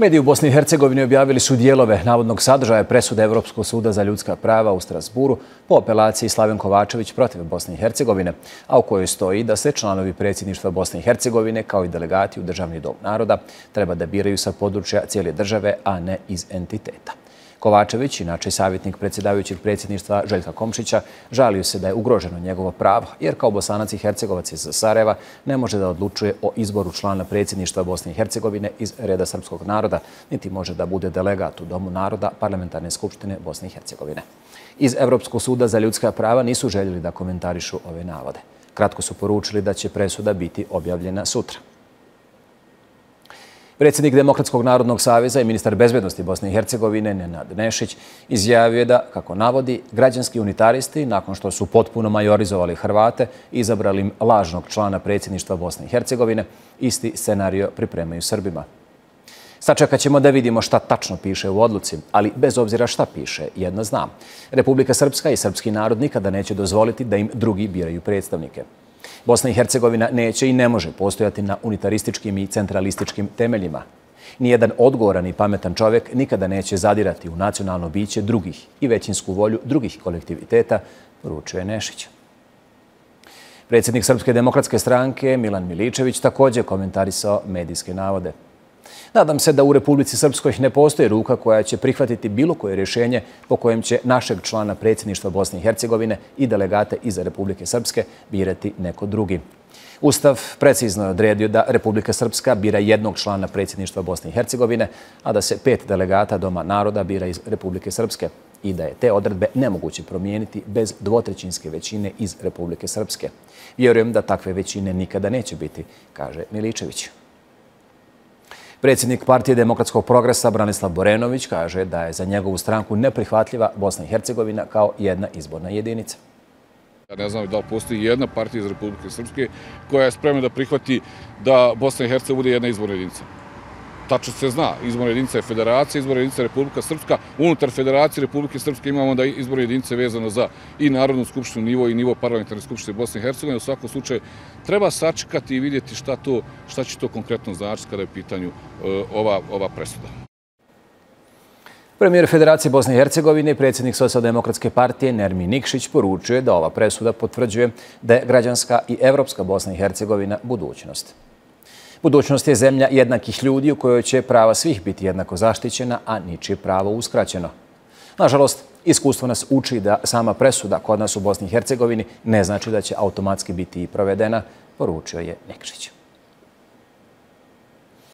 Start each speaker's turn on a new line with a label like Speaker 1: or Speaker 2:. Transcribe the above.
Speaker 1: Mediji u Bosni i Hercegovini objavili su dijelove navodnog sadržaja presude Evropskog suda za ljudska prava u Strasburu po apelaciji Slaven Kovačević protiv Bosne i Hercegovine, a u kojoj stoji da se članovi predsjedništva Bosne i Hercegovine, kao i delegati u Državni dom naroda, treba da biraju sa područja cijele države, a ne iz entiteta. Kovačević, inače savjetnik predsjedavajućeg predsjedništva Željka Komšića, žalio se da je ugroženo njegovo pravo, jer kao Bosanac i Hercegovac iz Sarajeva ne može da odlučuje o izboru člana predsjedništva Bosne i Hercegovine iz reda srpskog naroda, niti može da bude delegat u Domu naroda Parlamentarne skupštine Bosne i Hercegovine. Iz Evropskog suda za ljudska prava nisu željeli da komentarišu ove navode. Kratko su poručili da će presuda biti objavljena sutra. Predsjednik Demokratskog narodnog saveza i ministar bezbednosti Bosne i Hercegovine Nenad Nešić izjavio je da, kako navodi, građanski unitaristi, nakon što su potpuno majorizovali Hrvate i izabrali im lažnog člana predsjedništva Bosne i Hercegovine, isti scenario pripremaju Srbima. Sačekat ćemo da vidimo šta tačno piše u odluci, ali bez obzira šta piše, jedno znam. Republika Srpska i srpski narod nikada neće dozvoliti da im drugi biraju predstavnike. Bosna i Hercegovina neće i ne može postojati na unitarističkim i centralističkim temeljima. Nijedan odgovoran i pametan čovjek nikada neće zadirati u nacionalno biće drugih i većinsku volju drugih kolektiviteta, poručuje Nešić. Predsjednik Srpske demokratske stranke Milan Miličević također komentarisao medijske navode. Nadam se da u Republici Srpskoj ne postoji ruka koja će prihvatiti bilo koje rješenje po kojem će našeg člana predsjedništva Bosne i Hercegovine i delegate iz Republike Srpske birati neko drugi. Ustav precizno je odredio da Republika Srpska bira jednog člana predsjedništva Bosne i Hercegovine, a da se 5 delegata Doma naroda bira iz Republike Srpske i da je te odredbe nemoguće promijeniti bez dvotrećinske većine iz Republike Srpske. Vjerujem da takve većine nikada neće biti, kaže Miličević. Predsjednik Partije demokratskog progresa Branislav Borenović kaže da je za njegovu stranku neprihvatljiva Bosna i Hercegovina kao jedna izborna jedinica.
Speaker 2: Ja ne znam da li postoji jedna partija iz Republike Srpske koja je spremna da prihvati da Bosna i Hercegovina bude jedna izborna jedinica. Tačno se zna, izborna jedinica je federacija, izborna jedinica je Republika Srpska. Unutar federacije Republike Srpske imamo da izborne jedinice vezano za i Narodnu skupštinu nivo i nivo Parlamentarne skupštine Bosne i Hercegovine. U svakom slučaju treba sačekati i vidjeti šta će to konkretno značiti kada je u pitanju ova presuda.
Speaker 1: Premijer Federacije Bosne i Hercegovine i predsjednik Socijaldemokratske partije Nermin Nikšić poručuje da ova presuda potvrđuje da je građanska i evropska Bosna i Hercegovina budućnost. Budućnost je zemlja jednakih ljudi u kojoj će prava svih biti jednako zaštićena, a ničije pravo uskraćeno. Nažalost, iskustvo nas uči da sama presuda kod nas u Bosni i Hercegovini ne znači da će automatski biti i provedena, poručio je Nikšić.